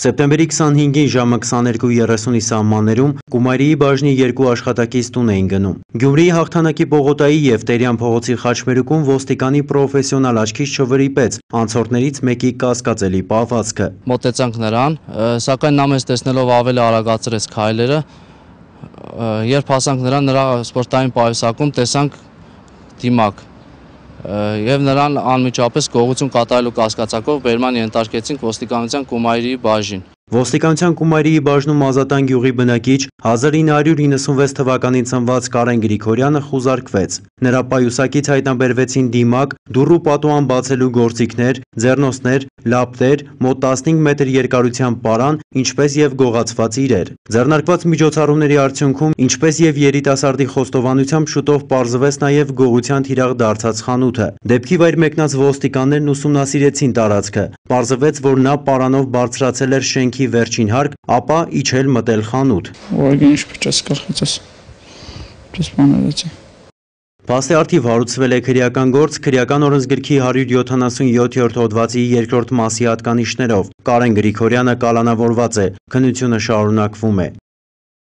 Սեպտեմբերի 25-ին ժամը 22:30-ի սահմաններում Կումայրիի բաժնի երկու աշխատակից տուն էին գնում։ Գյումրիի Հաղթանակի պողոտայի և Տերյան փողոցի խաչմերուկում ոստիկանի պրոֆեսիոնալ աչքից չվրիպեց անցորդներից մեկի կասկածելի պահվածքը։ Մոտեցանք նրան, սակայն նա մեզ տեսնելով ավելի արագացրեց քայլերը, երբ հասանք նրա սպորտային պայուսակում տեսանք դիմակ և նրան անմիջապես գողություն կատարելու կասկածակով բերման ենթարկեցինք ոստիկանության Կումայրիի բաժին։ Ոստիկանության Կումայրիի բաժնում Ազատան գյուղի բնակիչ 1996 թվականին ծնված Կարեն Գրիգորյանը խուզարկվեց։ Նրա պայուսակից հայտնաբերվեցին դիմակ, դուռ ու պատուհան բացելու գործիքներ, ձեռնոցներ, լապտեր, մոտ 15 մետր երկարության պարան, ինչպես և գողացված իրեր։ Ձեռնարկված միջոցառումների արդյունքում, ինչպես և երիտասարդի խոստովանությամբ շուտով պարզվեց նաև գողության թիրախ դարձած խանութը։ Դեպքի վայր մեկնած ոստիկաններն ուսումնասիրեցին տարածքը։ Պարզվեց, որ նա պարանով բարձրացել էր շենքի վերջին հարկ, ապա իջել մտել խանութ։ Փաստի առթիվ հարուցվել է քրեական գործ քրեական օրենսգրքի 177-րդ հոդվածի 2-րդ մասի հատկանիշներով։ Կարեն Գրիգորյանը կալանավորված է, քննությունը շարունակվում է։